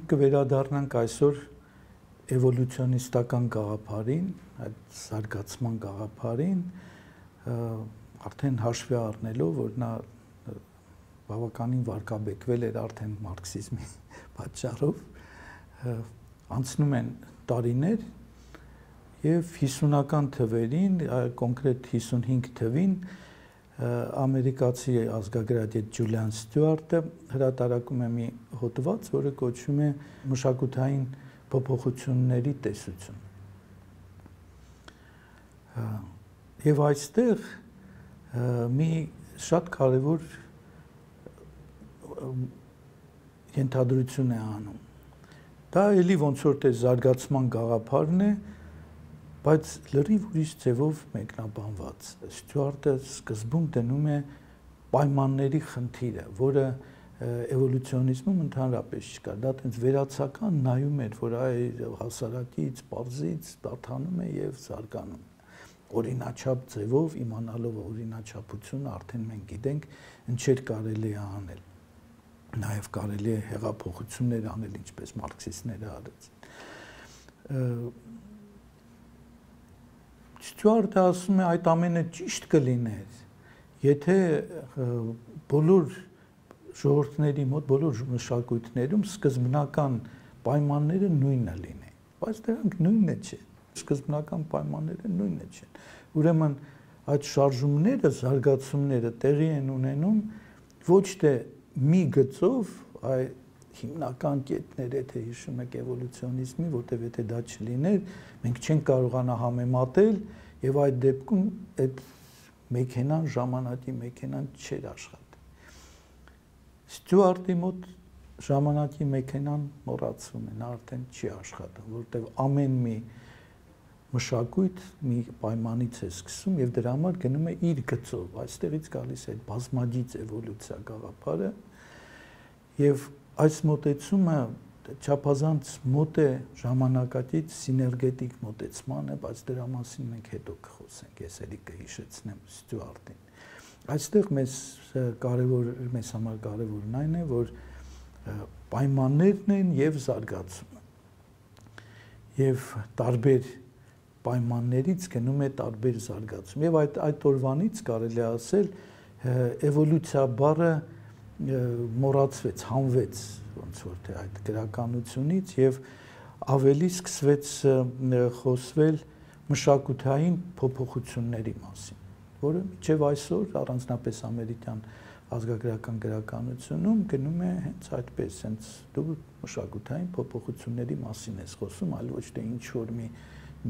Մենք կվերադառնանք այսօր էվոլյուցիոնիստական գաղափարին, այդ զարգացման գաղափարին, արդեն հաշվի առնելով, որ նա բավականին վարկաբեկվել էր արդեն մարքսիզմի պատճառով, անցնում են տարիներ եւ 50-ական թվերին, կոնկրետ 55 թվին ամերիկացի ազգագրագետ Ջուլիան Ստյուարտը հրատարակում է մի հոդված, որը կոչվում է մշակութային փոփոխությունների տեսություն։ Եվ այստեղ մի շատ կարևոր ենթադրություն է անում։ Դա էլի ոնց որ թե զարգացման գաղափարն է, բայց լրիվ ուրիշ ձևով մեկնաբանված։ Ստյուարտը սկզբում դնում է պայմանների խնդիրը, որը էվոլյուցիոնիզմում ընդհանրապես չկա։ Դա տենց վերացական նայում էր, որ այ հասարակից, պարզից դառնում է եւ զարգանում։ Օրինաչափ ձևով իմանալով օրինաչափությունը արդեն մենք գիտենք ինչեր կարելի է անել։ Նաեւ կարելի է հեղափոխություններ անել, ինչպես մարքսիստները արեցին։ Ստյուարտը ասում է այդ ամենը ճիշտ կլիներ, եթե բոլոր ժողովուրդների մոտ, բոլոր մշակույթներում սկզբնական պայմանները նույնը լինեն, բայց դրանք նույնը չեն, սկզբնական պայմանները նույնը չեն։ Ուրեմն այդ շարժումները, զարգացումները տեղի են ունենում ոչ թե մի գծով, այլ հիմնական կետներ, եթե հիշում եք էվոլյուցիոնիզմի, որտեղ եթե դա չլիներ, մենք չենք կարողանա համեմատել եւ այդ դեպքում այդ մեքենան, ժամանակի մեքենան չէր աշխատի։ Ստյուարտի մոտ ժամանակի մեքենան մոռացվում է, նա արդեն չի աշխատում, որտեղ ամեն մի մշակույթ մի պայմանից է սկսում եւ դրա համար գնում է իր գծով, այստեղից գալիս է բազմագիծ էվոլյուցիա գաղափարը եւ այս մոտեցումը չափազանց մոտ է ժամանակակից սիներգետիկ մոտեցմանը, բայց դրա մասին մենք հետո կխոսենք, ես էլի կհիշեցնեմ Ստյուարտին։ Այստեղ մեզ համար կարևորն այն է, որ պայմաններն են եւ զարգացումը։ Եվ տարբեր պայմաններից գնում է տարբեր զարգացում։ Եվ այդ օրվանից կարելի է ասել էվոլյուցիա բառը մոռացվեց, հանվեց ոնց որ թե այդ գրականությունից եւ ավելի սկսվեց խոսվել մշակութային փոփոխությունների մասին, որը մինչեւ այսօր առանձնապես ամերիկյան ազգագրական գրականությունում գնում է հենց այդպես, հենց դու մշակութային փոփոխությունների մասին ես խոսում, այլ ոչ թե ինչ որ մի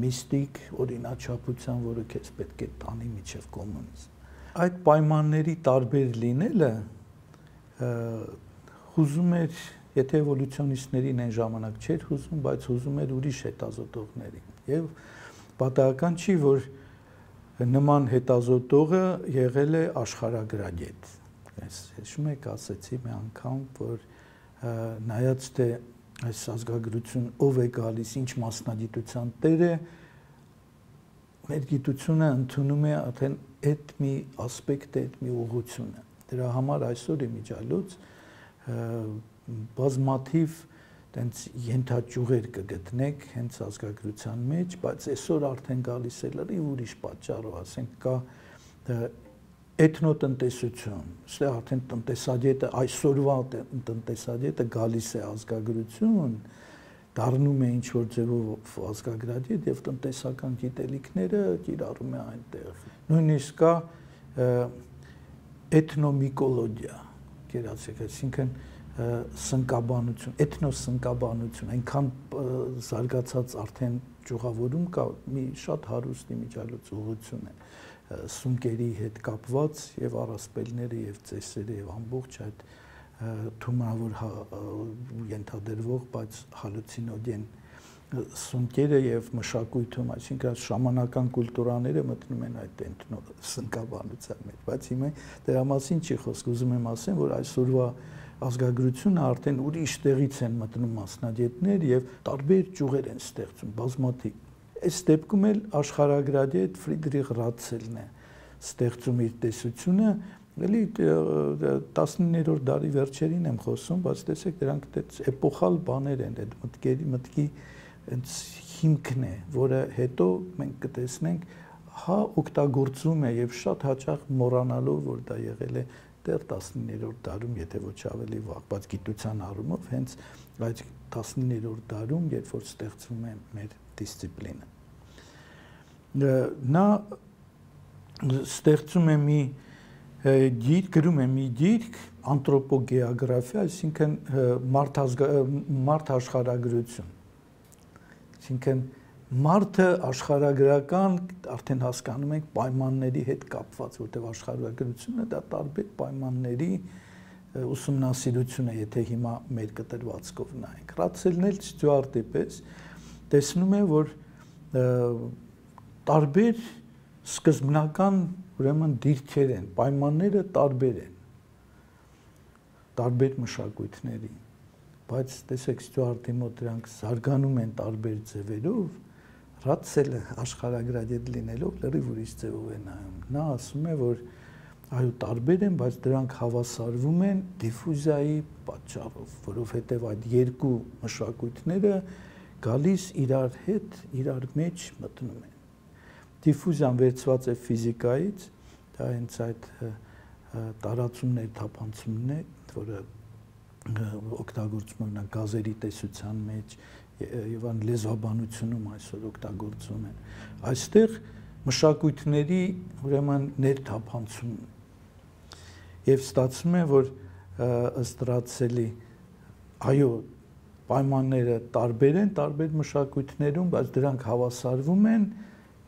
միստիկ օրինաչափության, որը քեզ պետք է տանի մինչեւ կոմունիզմ։ Այդ պայմանների տարբեր լինելը հուզում էր, եթե էվոլյուցիոնիստներին այն ժամանակ չէր հուզում, բայց հուզում էր ուրիշ հետազոտողներին։ Եվ պատահական չի, որ նման հետազոտողը եղել է աշխարհագրագետ։ Ես հիշում եք, ասեցի մի անգամ, որ նայած թե այս ազգագրություն ով է գալիս, ինչ մասնագիտության տեր է, մեր գիտությունը ընդունում է արդեն այդ մի ասպեկտը, այդ մի ուղղությունը։ Դրա համար այսօր իմիջիալոց բազմաթիվ տենց ենթաճյուղեր կգտնեք հենց ազգագրության մեջ, բայց այսօր արդեն գալիս է լրիվ ուրիշ պատճառով, ասենք կա էթնոտնտեսություն, այստեղ արդեն տնտեսագետը, այսօրվա տնտեսագետը գալիս է ազգագրություն, դառնում է ինչ-որ ձևով ազգագրագետ եւ տնտեսական գիտելիքները կիրառում է այնտեղ։ Նույնիսկ կա էթնոմիկոլոգիա, գերացեք, այսինքն սնկաբանություն, էթնոսնկաբանություն, այնքան զարգացած արդեն ճյուղավորում կա, մի շատ հարուստ իմիջիալոց ուղղություն է սունկերի հետ կապված եւ առասպելները եւ ծեսերը եւ ամբողջ այդ թունավոր ենթադրվող, բայց հալուցինոգեն սունկերը եւ մշակույթում, այսինքն շամանական կուլտուրաները մտնում են այդ սնկաբանության մեջ, բայց հիմա դրա մասին չի խոսք, ուզում եմ ասեմ, որ այսօրվա ազգագրությունը արդեն ուրիշ տեղից են մտնում մասնագետներ եւ տարբեր ճյուղեր են ստեղծում, բազմաթիվ։ Այս դեպքում էլ աշխարհագրագետ Ֆրիդրիխ Ռատցելն է ստեղծում իր տեսությունը Էլի 19-րդ դարի վերջերին եմ խոսում, բայց տեսեք դրանք էպոխալ բաներ են, այդ մտքի այնց հիմքն է, որը հետո մենք կտեսնենք, հա օգտագործում է եւ շատ հաճախ մոռանալով, որ դա եղել է դեռ 19-րդ դարում, եթե ոչ ավելի վաղ, բայց գիտության առումով հենց այդ 19-րդ դարում, երբ որ ստեղծվում է մեր դիսցիպլինը։ Նա ստեղծում է մի գիրք, գրում է մի գիրք, անտրոպոգեոգրաֆիա, այսինքն մարդ աշխարհագրություն։ Այսինքն մարդը աշխարհագրական արդեն հասկանում ենք պայմանների հետ կապված, որտեղ աշխարհագրությունը դա տարբեր պայմանների ուսումնասիրություն է, եթե հիմա մեր կտրվածքով նայենք։ Ռացելն էլ Ստյուարտի պես տեսնում է, որ տարբեր սկզբնական ուրեմն դիրքեր են, պայմանները տարբեր են, տարբեր մշակույթների, բայց տեսեք Ստյուարտի մոտ դրանք զարգանում են տարբեր ձևերով, Ռացելը աշխարհագրագետ լինելով լրիվ ուրիշ ձևով է նայում։ Նա ասում է, որ այո տարբեր են, բայց դրանք հավասարվում են դիֆուզիայի պատճառով, որովհետև այդ երկու մշակույթները գալիս իրար հետ, իրար մեջ մտնում են։ Դիֆուզիան վերցված է ֆիզիկայից, դա հենց այդ տարածումներ, թափանցումն է, որը օգտագործում են գազերի տեսության մեջ եւ ան լեզվաբանությունում այսօր օգտագործում են։ Այստեղ մշակույթների ուրեմն ներթափանցում եւ ստացվում է, որ ըստ Ռացելի այո պայմանները տարբեր են տարբեր մշակույթներում, բայց դրանք հավասարվում են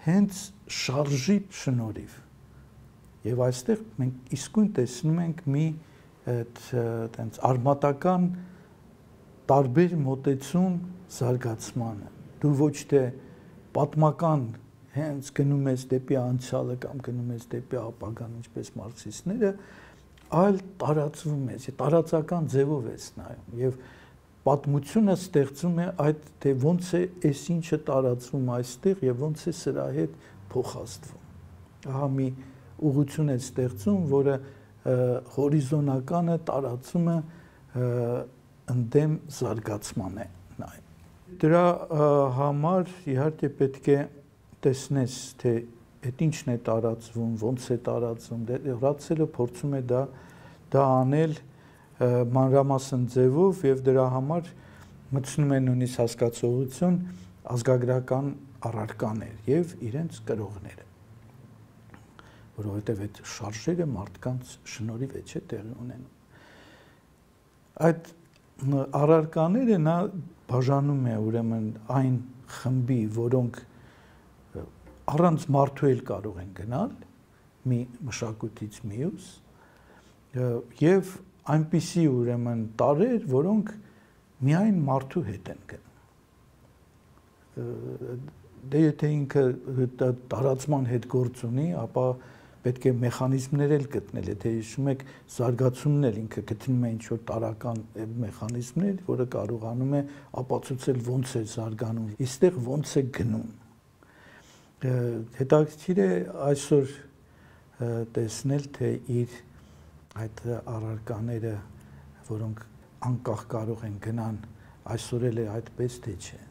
հենց շարժի շնորհիվ։ Եվ այստեղ մենք իսկույն տեսնում ենք մի այդպես արմատական տարբեր մոտեցում զարգացմանը։ Դու ոչ թե պատմական հենց գնում ես դեպի անցյալը կամ գնում ես դեպի ապագան, ինչպես մարքսիստները, այլ տարածվում ես, տարածական ձևով ես նայում եւ պատմությունը ստեղծում է այդ թե ոնց է այս ինչը տարածվում այստեղ եւ ոնց է սրա հետ փոխազդվում։ Ահա մի ուղղություն է ստեղծում, որը հորիզոնականը տարածումը ընդդեմ զարգացման է նայում։ Դրա համար իհարկե պետք է տեսնես, թե այդ ինչն է տարածվում, ոնց է տարածվում, Ռացելը փորձում է դա անել մանրամասն ձևով եւ դրա համար մտցնում է նույնիսկ հասկացողություն ազգագրական առարկաներ եւ իրենց կրողները, որովհետեւ այդ շարժերը մարդկանց շնորհիվ է չէ տեղի ունենում։ Այդ առարկաները նա բաժանում է ուրեմն այն խմբի, որոնք առանց մարդու էլ կարող են գնալ մի մշակույթից մյուս եւ այնպիսի ուրեմն տարրեր, որոնք միայն մարդու հետ են գնում։ Դե եթե ինքը տարածման հետ գործ ունի, ապա պետք է մեխանիզմներ էլ գտնել, եթե հիշում եք զարգացումն էլ ինքը գտնում է ինչ-որ տարական մեխանիզմներ, որը կարողանում է ապացուցել ոնց է զարգանում, իստեղ ոնց է գնում։ Հետաքրքիր է այսօր տեսնել, թե իր այդ առարկաները, որոնք անկախ կարող են գնան, այսօր էլ է այդպես թե չէ։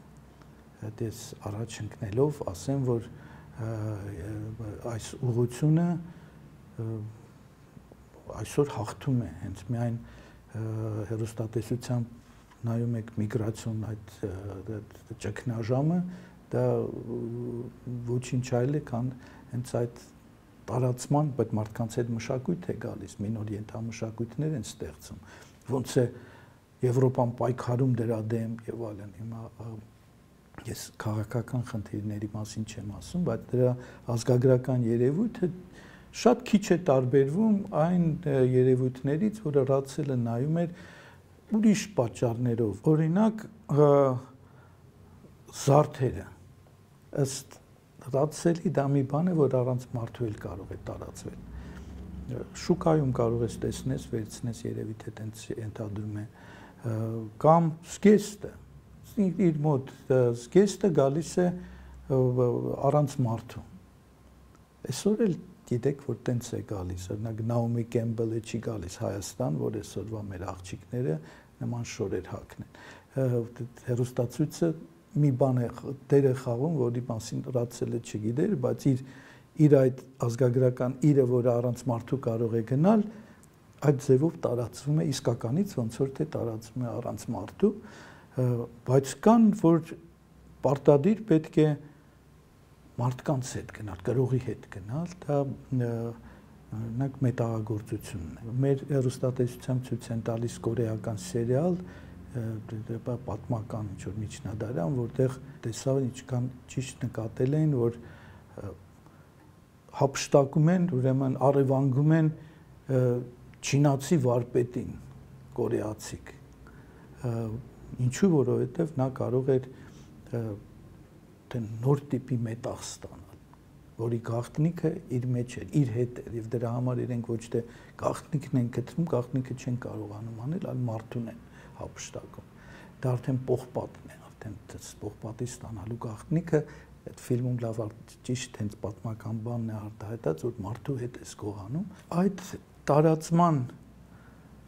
Դες առաջ ընկնելով ասեմ, որ այս ուղղությունը այսօր հաղթում է, հենց միայն հեռուստատեսությամբ նայում եք միգրացիոն այդ ճգնաժամը, դա ոչինչ այլ է, քան հենց այդ տարածման, բայց մարդկանց հետ մշակույթ է գալիս, մի նոր ենթամշակույթներ են ստեղծում, ոնց է Եվրոպան պայքարում դրա դեմ եւ այլն։ Հիմա ես քաղաքական խնդիրների մասին չեմ ասում, բայց դրա ազգագրական երևույթը շատ քիչ է տարբերվում այն երևույթներից, որը Ռացելը նայում էր ուրիշ պատճառներով։ Օրինակ զարդերը ըստ Ռացելի դա մի բան է, որ առանց մարդու էլ կարող է տարածվել։ Շուկայում կարող ես տեսնես, վերցնես երևի թե տենց ենթադրում է, կամ զգեստը, իր մոտ զգեստը գալիս է առանց մարդու։ Այսօր էլ գիտեք, որ տենց է գալիս, օրինակ Նաոմի Կեմբելը չի գալիս Հայաստան, որ այսօրվա մեր աղջիկները նման շորեր հագնեն։ Հեռուստացույցը մի բան է դեր է խաղում, որի մասին Ռացելը չգիտեր, բայց իր այդ ազգագրական իրը, որը առանց մարդու կարող է գնալ, այդ ձևով տարածվում է իսկականից, ոնց որ թե տարածվում է առանց մարդու, բայց կան, որ պարտադիր պետք է մարդկանց հետ գնալ, գրողի հետ գնալ, դա օրինակ մետաղագործությունն է։ Մեր հեռուստատեսությամբ ցույց են տալիս կորեական սերիալ, պատմական ինչ-որ միջնադարյան, որտեղ տեսավ ինչքան ճիշտ նկատել էին, որ հափշտակում են, ուրեմն առևանգում են չինացի վարպետին, կորեացիք։ Ինչու, որովհետև նա կարող էր նոր տիպի մետաղ ստանալ, որի գաղտնիքը իր մեջ էր, իր հետ էր, եւ դրա համար իրենք ոչ թե գաղտնիքն են գտնում, գաղտնիքը չեն կարողանում անել, այլ մարդուն են հափշտակում։ Դա արդեն պողպատն է, արդեն պողպատի ստանալու գաղտնիքը այդ ֆիլմում լավ ճիշտ հենց պատմական բանն է արտահայտած, որ մարդու հետ է զգողանում։ Այդ տարածման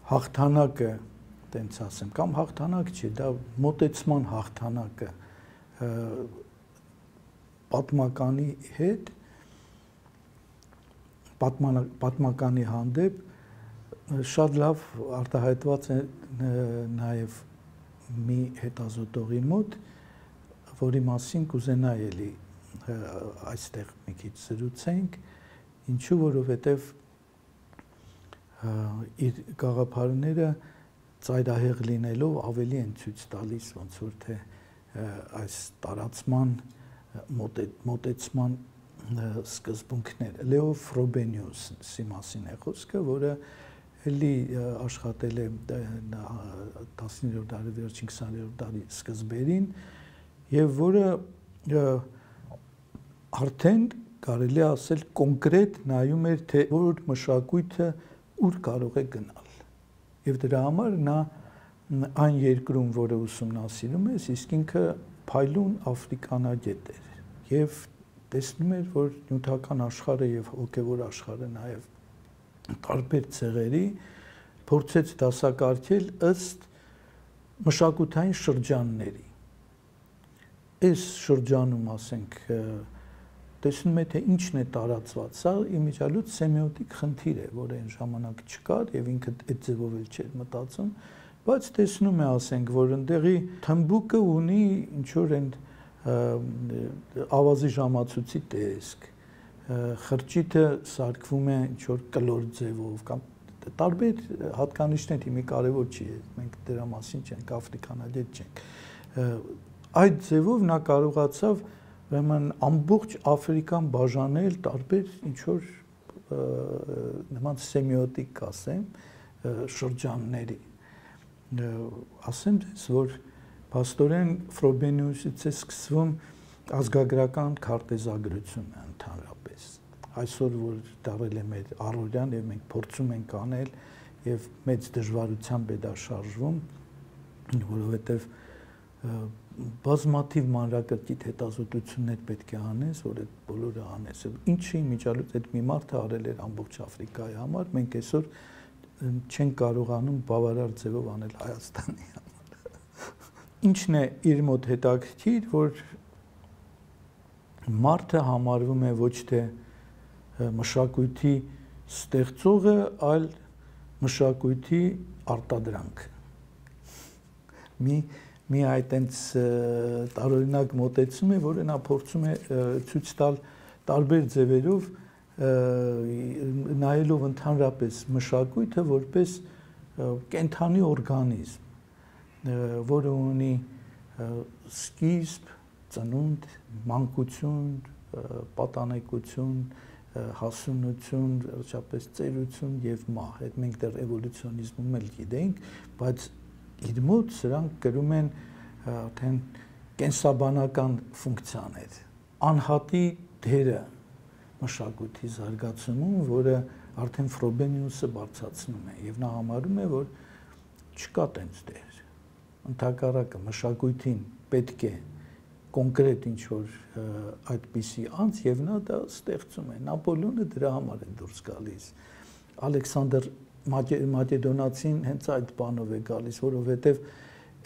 հաղթանակը, տենց ասեմ, կամ հաղթանակ չի, դա մոտեցման հաղթանակը պատմականի հետ, պատմականի հանդեպ շատ լավ արտահայտված է նաև մի հետազոտողի մոտ, որի մասին կուզենայի էլի այստեղ մի քիչ զրուցենք, ինչու, որովհետև իր գաղափարները ծայրահեղ լինելով ավելի են ցույց տալիս, ոնց որ թե այս տարածման մոտեցման սկզբունքները։ Լեո Ֆրոբենիուսի մասին է խոսքը, որը էլի աշխատել է 19-րդ դարի վերջին 20-րդ դարի սկզբերին եւ որը արդեն կարելի է ասել կոնկրետ նայում էր թե որ մշակույթը ուր կարող է գնալ եւ դրա համար նա այն երկրում, որը ուսումնասիրում է, իսկ ինքը փայլուն աֆրիկանագետ էր եւ տեսնում էր, որ նյութական աշխարհը եւ հոգեվոր աշխարհը նաեւ տարբեր ցեղերի փորձեց դասակարգել ըստ մշակութային շրջանների։ Այս շրջանում, ասենք, տեսնում է թե ինչն է տարածված, սա իմիջիալուց սեմիոտիկ խնդիր է, որը այն ժամանակ չկար եւ ինքը այդ ձևով էլ չէր մտածում, բայց տեսնում է, ասենք, որ ընդեղի թմբուկը ունի ինչ որ այն ավազի ժամացույցի տեսք, խրճիթը սարքվում է ինչ որ կլոր ձևով կամ տարբեր հատկանիշներ, հիմա կարևոր չի, մենք դրա մասին չենք, աֆրիկանագետ չենք։ Այդ ձևով նա կարողացավ ուրեմն ամբողջ Աֆրիկան բաժանել տարբեր ինչ որ նման սեմիոտիկ ասեմ շրջանների։ Ասեմ դες, որ փաստորեն Ֆրոբենիուսից է սկսվում ազգագրական քարտեզագրությունը ընդհանրապես։ Այսօր որ դարել է մեր առօրյան եւ մենք փորձում ենք անել եւ մեծ դժվարությամբ է դա շարժվում, որովհետեւ բազմաթիվ մանրակրկիտ հետազոտություններ պետք է անես, որ այդ բոլորը անես։ Ինչի միջալուց այդ մի մարդը արել էր ամբողջ Աֆրիկայի համար, մենք այսօր չենք կարողանում բավարար ձևով անել Հայաստանի համար։ Ինչն է իր մոտ հետաքրքիր, որ մարդը համարվում է ոչ թե մշակույթի ստեղծողը, այլ մշակույթի արտադրանքը։ Մի այտենց տարօրինակ մոտեցում է, որը նա փորձում է ցույց տալ տարբեր ձևերով, նայելով ընդհանրապես մշակույթը որպես կենթանի օրգանիզմ, որը ունի սկիզբ, ծնունդ, մանկություն, պատանեկություն, հասունություն, վերջապես ծերություն եւ մահ։ Այդ մենք դեռ էվոլյուցիոնիզմում էլ գիտենք, բայց իր մոտ սրանք կրում են արդեն կենսաբանական ֆունկցիաներ, անհատի դերը մշակույթի զարգացումում, որը արդեն Ֆրոբենիուսը բարձրացնում է եւ նա համարում է, որ չկա տենց դեր։ Ընդհակառակը մշակույթին պետք է կոնկրետ ինչ-որ այդպիսի անձ եւ նա դա ստեղծում է։ Նապոլեոնը դրա համար է դուրս գալիս։ Ալեքսանդր Մակեդոնացին հենց այդ բանով է գալիս, որովհետեւ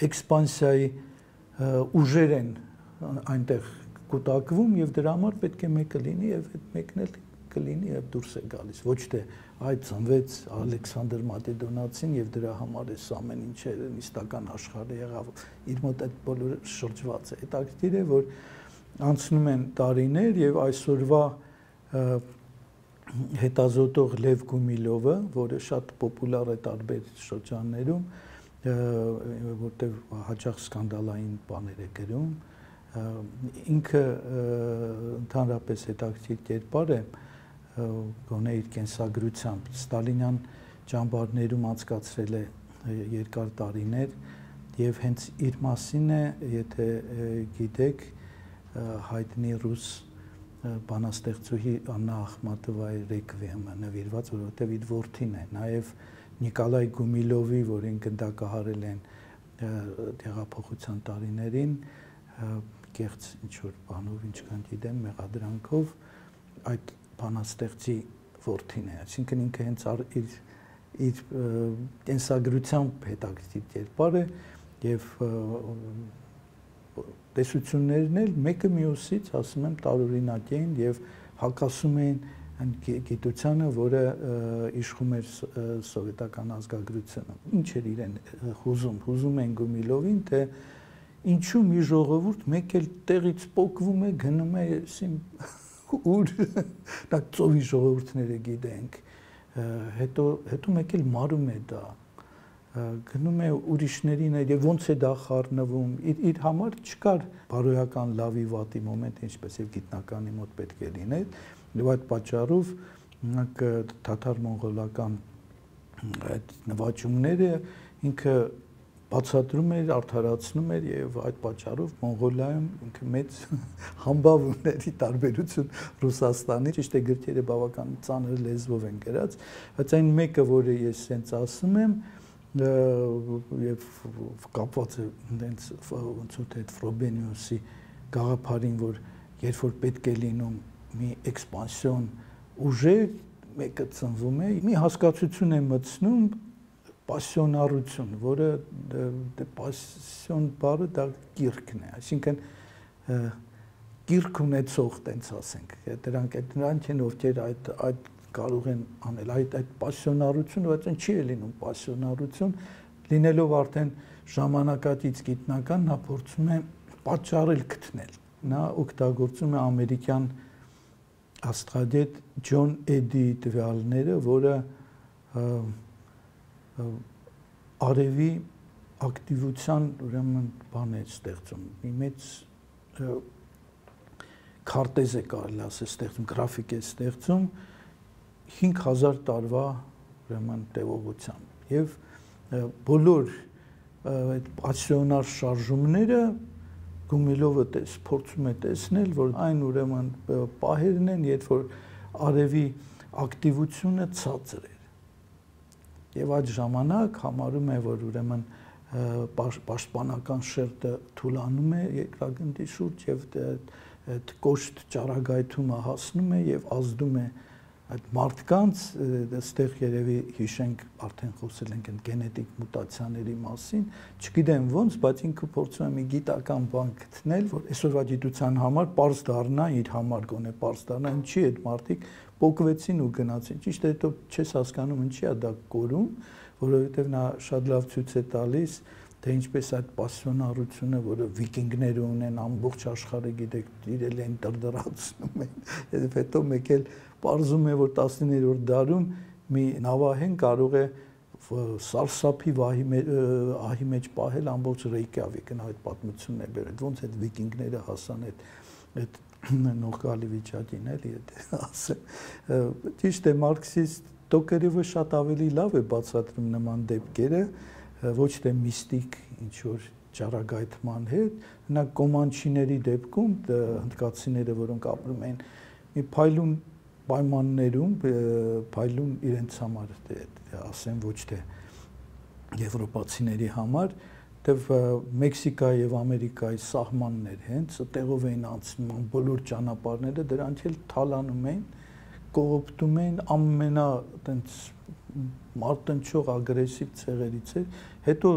էքսպանսիայի ուժեր են այնտեղ կուտակվում եւ դրա համար պետք է մեկը լինի եւ այդ մեկն էլ կլինի եւ դուրս է գալիս։ Ոչ թե այդ ծնվեց Ալեքսանդր Մակեդոնացին եւ դրա համար է ամեն ինչը նիստական աշխարհը եղավ, իր մոտ այդ բոլորը շրջված է։ Հետաքրքիր է, որ անցնում են տարիներ եւ այսօրվա հետազոտող Լև Գումիլովը, որը շատ պոպուլար է տարբեր շրջաններում, որտեղ հաճախ սկանդալային բաներ է գրում, ինքը ընդհանրապես հետաքրքիր կերպար է, գոնե իր կենսագրությամբ ստալինյան ճամբարներում անցկացրել է երկար տարիներ եւ հենց իր մասին է, եթե գիտեք, հայտնի ռուս բանաստեղծուհի Աննա Ախմատովայի ռեկվիեմը նվիրված, որովհետեւ իր որդին է, նաեւ Նիկոլայ Գումիլովի, որին գնդակահարել են տեղափոխության տարիներին, կեղծ ինչ-որ բանով, ինչքան գիտեմ, մեղադրանքով այդ բանաստեղծի որդին է, այսինքն ինքը հենց իր կենսագրությամբ հետաքրքիր կերպար է եւ տեսություններն էլ մեկը մյուսից, ասում եմ, տարօրինակ էին եւ հակասում էին այն գիտությանը, որը իշխում էր սովետական ազգագրությունը։ Ինչ էր իրեն հուզում են Գումիլովին, թե ինչու մի ժողովուրդ մեկ էլ տեղից պոկվում է, գնում է ուր դա ծովի ժողովուրդները գիտենք, հետո մեկ էլ մարում է դա, գնում է ուրիշներին եւ ոնց է դա խառնվում, իր համար չկար բարոյական լավի վատի մոմենտ, ինչպես եւ գիտնականի մոտ պետք է լիներ, եւ այդ պատճառով նրանք թաթար-մոնղոլական այդ նվաճումները ինքը բացատրում էր, արդարացնում էր եւ այդ պատճառով Մոնղոլիայում ինքը մեծ համբավ ուներ ի տարբերություն Ռուսաստանի, ճիշտ է գրքերը բավական ծանր լեզվով են գրած, բայց այն մեկը, որը ես հենց ասում եմ, եւ կապված է հենց ոնց որ այդ Ֆրոբենիուսի գաղափարին, որ երբ որ պետք է լինում մի էքսպանսիոն ուժեր, մեկը ծնվում է, մի հասկացություն է մտցնում պասիոնարություն, որը պասիոն բառը դա կիրքն է, այսինքն կիրք ունեցող, տենց ասենք, դրանք են ովքեր այդ կարող են անել այդ պասիոնարությունը, բայց այն չի լինում պասիոնարություն, լինելով արդեն ժամանակակից գիտնական, նա փորձում է պատճառել գտնել։ Նա օգտագործում է ամերիկյան աստղադետ Ջոն Էդի տվյալները, որը արևի ակտիվության ուրեմն բան է ստեղծում, մի մեծ քարտեզ է կարելի ասել ստեղծում, գրաֆիկ է ստեղծում 5000 տարվա ուրեմն տևողությամբ եւ բոլոր այդ պասիոնար շարժումները Գումիլովը փորձում է տեսնել, որ այն ուրեմն պահերն են, երբ որ արևի ակտիվությունը ցածր է եւ այդ ժամանակ համարում է, որ ուրեմն պաշտպանական շերտը թուլանում է երկրագնդի շուրջ եւ այդ կոշտ ճառագայթումը հասնում է եւ ազդում է այդ մարդկանց, այստեղ երևի հիշենք, արդեն խոսել ենք գենետիկ մուտացիաների մասին, չգիտեմ ոնց, բայց ինքը փորձում է մի գիտական բան գտնել, որ այսօրվա գիտության համար պարզ դառնա, իր համար գոնե պարզ դառնա, ինչի այդ մարդիկ պոկվեցին ու գնացին։ Ճիշտ է, հետո չես հասկանում ինչի է դա կորում, որովհետև նա շատ լավ ցույց է տալիս, թե ինչպես այդ պասիոնարությունը, որը վիկինգները ունեն, ամբողջ աշխարհը գիտեք, իրել են դրդրացնում են, եւ հետո մեկ էլ պարզում է, որ 19-րդ դարում մի նավահեն կարող է սարսափի ահի մեջ պահել ամբողջ Ռեյկյավիկն, այդ պատմությունն է բերել, ոնց այդ վիկինգները հասան այդ նողկալի վիճակին, էլի ասեմ։ Ճիշտ է, մարքսիստ Տոկերևը շատ ավելի լավ է բացատրում նման դեպքերը, ոչ թե միստիկ ինչ-որ ճառագայթման հետ, նա կոմանչիների դեպքում հնդկացիները, որոնք ապրում են մի փայլուն պայմաններում, փայլուն իրենց համար, ասեմ ոչ թե եվրոպացիների համար, դեվ Մեքսիկայի եւ Ամերիկայի սահմաններ հենց տեղով էին անցնում բոլոր ճանապարհները, դրանք էլ թալանում էին, կողոպտում էին ամենա այտենց մարտնչող ագրեսիվ ցեղերից էր, հետո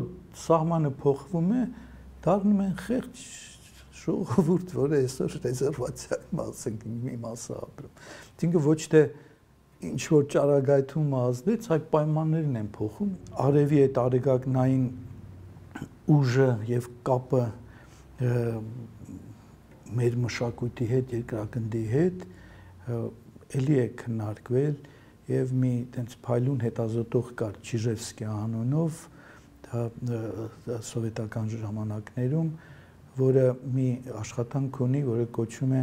սահմանը փոխվում է, դառնում են խեղճ ժողովուրդ, որը այսօր ռեզերվացիայի մի մասը ապրում։ Այսինքն ոչ թե ինչ որ ճարագայթում ազդեց, այլ պայմաններն են փոխում, արևի այդ արեգակնային ուժը եւ կապը մեր մշակույթի հետ, երկրագնդի հետ էլի է քննարկվել եւ մի տենց փայլուն հետազոտող կար Չիժևսկի անունով, դա սովետական ժամանակներում, որը մի աշխատանք ունի, որը կոչվում է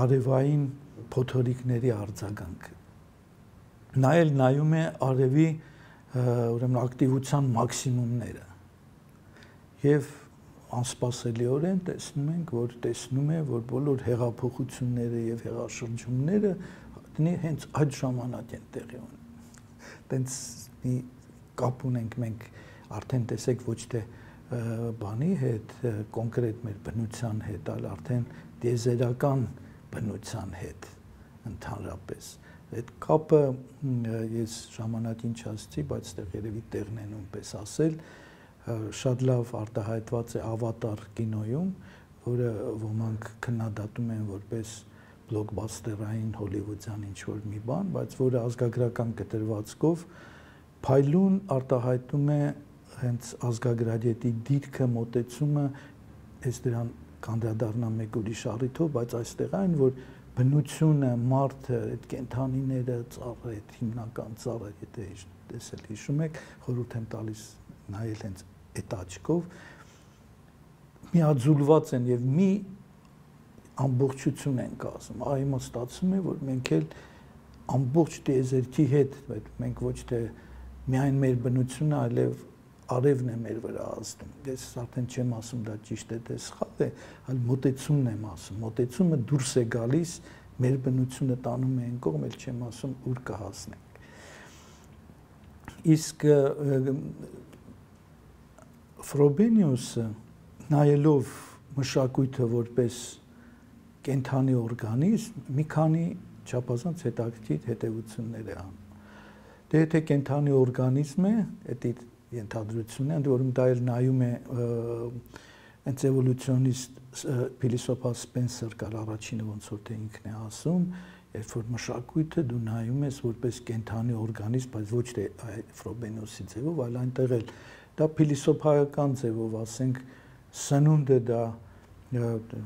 արևային փոթորիկների արձագանքը։ Նա էլ նայում է արևի ուրեմն ակտիվության մաքսիմումները եւ անսպասելիորեն տեսնում է, որ բոլոր հեղափոխությունները եւ հեղաշրջումները հենց այդ ժամանակ են տեղի ունենում։ Տենց մի կապ ունենք մենք արդեն տեսեք ոչ թե բանի հետ, կոնկրետ մեր բնության հետ, այլ արդեն դիեզերական բնության հետ ընդհանրապես։ Այդ կապը ես ժամանակին չասեցի, բայց այդտեղ երևի տեղն է նույնպես ասել, շատ լավ արտահայտված է Ավատար կինոյում, որը ոմանք քննադատում են որպես բլոկբասթերային հոլիվուդյան ինչ-որ մի բան, բայց որը ազգագրական կտրվածքով փայլուն արտահայտում է հենց ազգագրագետի դիրքը, մոտեցումը, ես դրան կանդրադառնամ մեկ ուրիշ առիթով, բայց այստեղ այն, որ բնությունը, մարդը, այդ կենդանիները, ծառը, այդ հիմնական ծառը, եթե տեսել հիշում եք, խորհուրդ եմ տալիս նայել հենց այդ աչքով, միաձուլված են եւ մի ամբողջություն են կազմում։ Այո, ստացվում է, որ մենք էլ ամբողջ տիեզերքի հետ, մենք ոչ թե միայն մեր բնությունը, այլև արևն է մեր վրա ազդում։ Ես արդեն չեմ ասում դա ճիշտ է, թե սխալ է, այլ մոտեցումն եմ ասում։ Մոտեցումը դուրս է գալիս, մեր բնությունը տանում է այն կողմ, էլ չեմ ասում ուր կհասնենք։ Իսկ Ֆրոբենիուսը նայելով մշակույթը որպես կենդանի օրգանիզմ, մի քանի չափազանց հետաքրքիր հետևություններ է անում։ Դե եթե կենդանի օրգանիզմ է, դա ենթադրությունն է, ընդ որում դա էլ նայում է հենց էվոլյուցիոնիստ փիլիսոփա Սպենսեր կար առաջինը ոնց որ թե ինքն է ասում, երբ որ մշակույթը դու նայում ես որպես կենդանի օրգանիզմ, բայց ոչ թե Ֆրոբենիուսի ձևով, այլ այնտեղ էլ դա փիլիսոփայական ձևով, ասենք, սնունդը դա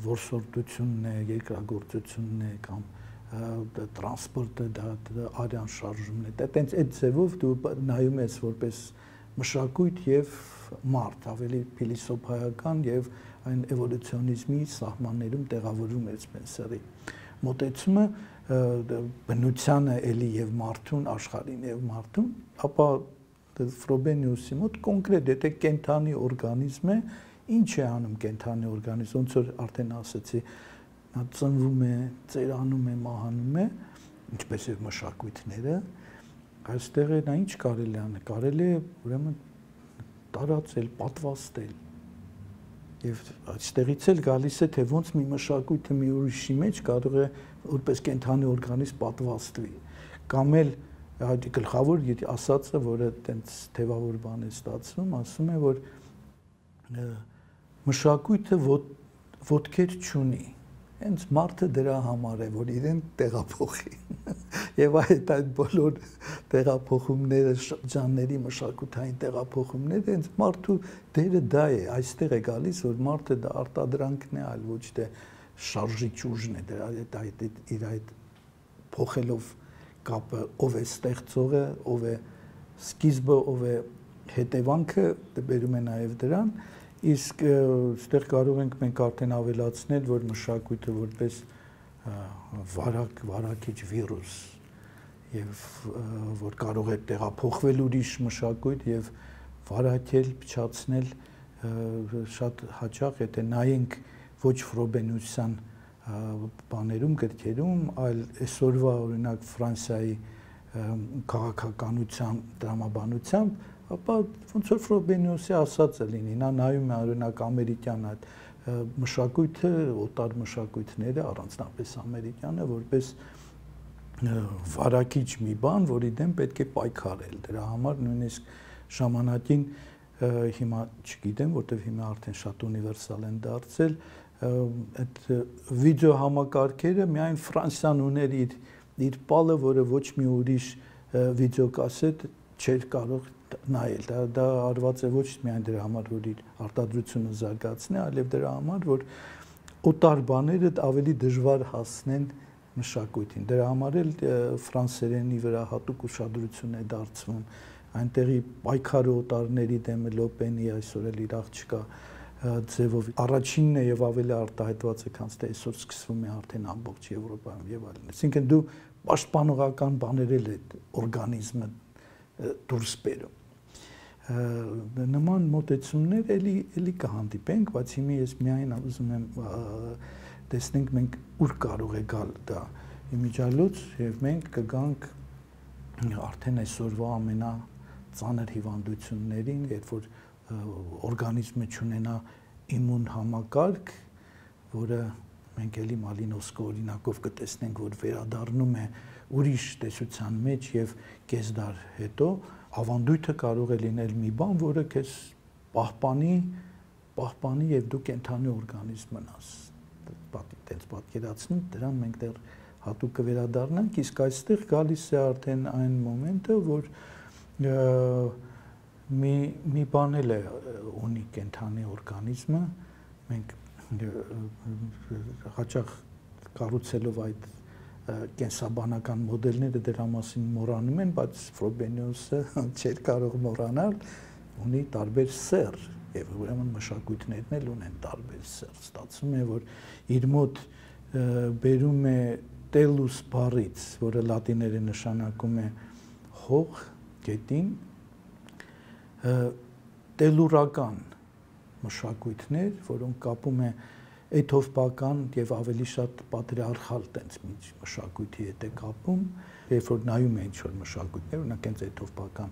որսորդությունն է, երկրագործությունն է կամ տրանսպորտը դա արյան շարժումն է, դա տենց այդ ձևով դու նայում ես որպես մշակույթ եւ մարդ, ավելի փիլիսոփայական եւ այն էվոլյուցիոնիզմի սահմաններում տեղավորում էր Սպենսերի մոտեցումը բնությանը էլի եւ մարդուն, աշխարհին եւ մարդուն, ապա Ֆրոբենիուսի մոտ կոնկրետ եթե կենդանի օրգանիզմ է, ինչ է անում կենդանի օրգանիզմ, ոնց որ արդեն ասացի, նա ծնվում է, ծերանում է, մահանում է, ինչպես եւ մշակույթները, այստեղ նա ինչ կարելի անել, կարելի է ուրեմն տարածել, պատվաստել։ Եվ այստեղից էլ գալիս է թե ոնց մի մշակույթը մի ուրիշի մեջ կարող է որպես կենդանի օրգանիզմ պատվաստվի, կամ էլ այդ գլխավոր ասածը, որը տենց թևավոր բան է ստացվում, ասում է, որ մշակույթը ոտքեր չունի, հենց մարդը դրա համար է, որ իրեն տեղափոխի։ Եվ այդ բոլոր տեղափոխումները, շրջանների մշակութային տեղափոխումները, հենց մարդու դերը դա է, այստեղ է գալիս, որ մարդը դա արտադրանքն է, այլ ոչ թե շարժիչ ուժն է, իր այդ փոխելով կապը, ով է ստեղծողը, ով է սկիզբը, ով է հետևանքը, բերում է նաև դրան, իսկ այստեղ կարող ենք մենք արդեն ավելացնել, որ մշակույթը որպես վարակիչ վիրուս եւ որ կարող է տեղափոխվել ուրիշ մշակույթ եւ վարակել, փչացնել շատ հաճախ, եթե նայենք ոչ Ֆրոբենիուսյան բաներում, գրքերում, այլ այսօրվա օրինակ Ֆրանսիայի քաղաքականության դրամաբանությամբ ապա ոնց որ Ֆրոբենիոսի ասածը լինի, նա նայում է օրինակ ամերիկյան այդ մշակույթը, օտար մշակույթները, առանձնապես ամերիկյանը, որպես վարակիչ մի բան, որի դեմ պետք է պայքարել։ Դրա համար նույնիսկ ժամանակին հիմա չգիտեմ, որտեղ հիմա արդեն շատ ունիվերսալ են դարձել, այդ վիդեո համակարգերը միայն Ֆրանսիան ուներ իր պալը, որը ոչ մի ուրիշ վիդեոկասետ չէր կարող նայել։ Դա արված է ոչ միայն դրա համար, որ իր արտադրությունը զարգացնի, այլև դրա համար, որ օտար բաները ավելի դժվար հասնեն մշակույթին։ Դրա համար էլ ֆրանսերենի վրա հատուկ ուշադրություն է դարձվում։ Այնտեղի պայքարը օտարների դեմ Լոպենի այսօր էլ իր աղջկա ձևով առաջինն է եւ ավելի արտահայտված է, քան թե այսօր սկսվում է արդեն ամբողջ Եվրոպայում եւ այլն։ Այսինքն դու պաշտպանողական բաներ էլ է օրգանիզմը դուրս բերում։ Նման մոտեցումներ էլի կհանդիպենք, բայց հիմա ես միայն ուզում եմ տեսնենք մենք ուր կարող է գալ դա իմիջիալոց եւ մենք կգանք արդեն այսօրվա ամենածանր հիվանդություններին, երբ որ օրգանիզմը չունենա իմուն համակարգ, որը մենք էլի Մալինովսկի օրինակով կտեսնենք, որ վերադառնում է ուրիշ տեսության մեջ եւ կես դար հետո, ավանդույթը կարող է լինել մի բան, որը քեզ պահպանի եւ դու կենթանի օրգանիզմ մնաս։ Այդպես պատկերացնում, դրան մենք դեռ հատուկ կվերադառնանք, իսկ այստեղ գալիս է արդեն այն մոմենտը, որ մի բան էլ է ունի կենթանի օրգանիզմը, մենք հաճախ կառուցելով այդ կենսաբանական մոդելները դրա մասին մոռանում են, բայց Ֆրոբենիոսը չէր կարող մոռանալ, ունի տարբեր սեռ, եւ ուրեմն մշակույթներն էլ ունեն տարբեր սեռ։ Ստացվում է, որ իր մոտ բերում է տելուս բառից, որը լատիներեն նշանակում է հող, գետին, տելուրական մշակույթներ, որոնք կապում է էթովպական եւ ավելի շատ պատրիարխալ տենց մշակույթի հետ է կապում, երբ որ նայում է ինչ-որ մշակույթներ, օրինակ հենց էթովպական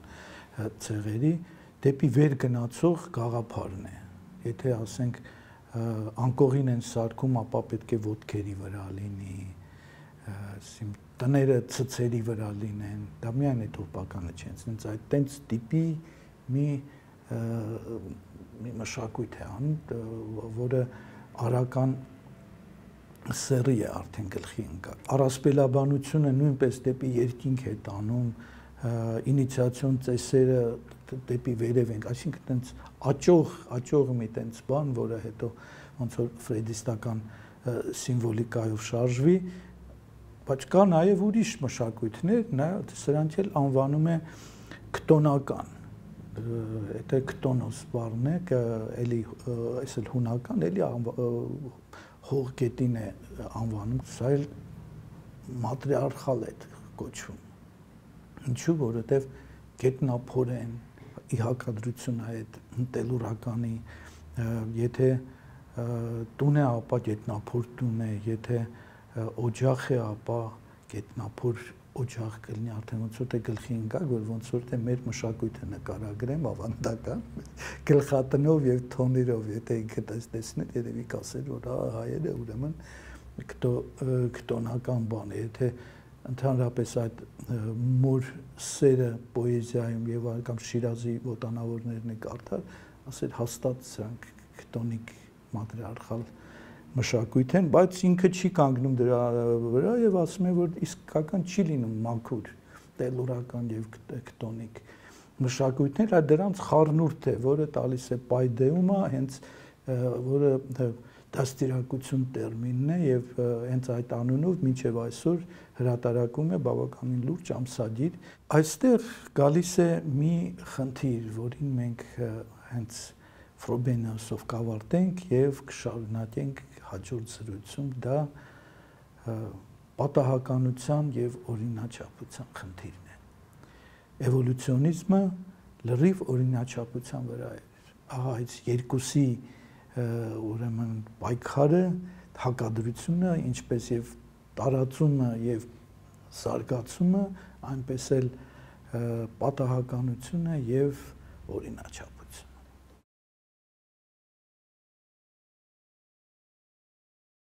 ցեղերի դեպի վեր գնացող գաղափարն է։ Եթե ասենք անկողին են սարքում, ապա պետք է ոտքերի վրա լինի, տները ցցերի վրա լինեն, դա միայն էթովպականը չէ, հենց այդ տենց տիպի մի մշակույթ է անում, որը արական սերի է արդեն գլխի ընկած։ Առասպելաբանությունը նույնպես դեպի երկինք է տանում, ինիցիացիոն ծեսերը դեպի վերև ենք, այսինքն տենց աճող մի տենց բան, որը հետո ոնց որ ֆրեդիստական սիմվոլիկայով շարժվի, բայց կա նաև ուրիշ մշակույթներ, սրանք էլ անվանում է քտոնական։ Եթե քտոնոս բառն է, էլի այս էլ հունական, էլի հողգետին է անվանում, սա էլ մատրիարխալ է կոչվում։ Ինչու, որովհետև գետնափորեն ի հակադրություն այդ տելուրականի, եթե տուն է, ապա գետնափոր տուն է, եթե օջախ է, ապա գետնափոր օջախ կլինի, արդեն ոնց որ թե գլխի ընկա, որ ոնց որ թե մեր մշակույթը նկարագրեմ ավանդական գլխատնով եւ թոներով, եթե ինքը տեսներ, երևի կասեր, որ հայերը ուրեմն քտոնական բան է, եթե ընդհանրապես այդ մոր սերը պոեզիայում եւ կամ Շիրազի ոտանավորներն է կարդալ, ասել հաստատ սրանք քտոնիկ մատրիարխալ մշակույթ են, բայց ինքը չի կանգնում դրա վրա եւ ասում է, որ իսկական չի լինում մաքուր, տելուրական եւ քտոնիկ մշակույթներ, այլ դրանց խառնուրդ է, որը տալիս է պայդեումը, հենց որը դաստիարակություն տերմինն է եւ հենց այդ անունով մինչեւ այսօր հրատարակում է բավականին լուրջ ամսագիր։ Այստեղ գալիս է մի խնդիր, որին մենք հենց Ֆրոբենիոսով կավարտենք եւ կշարունակենք հաջորդ զրույցում, դա պատահականության եւ օրինաչափության խնդիրն է։ Էվոլյուցիոնիզմը լրիվ օրինաչափության վրա է։ Ահա այս երկուսի ուրեմն պայքարը, հակադրությունը, ինչպես եւ տարածումը եւ զարգացումը, այնպես էլ պատահականությունը եւ օրինաչափ։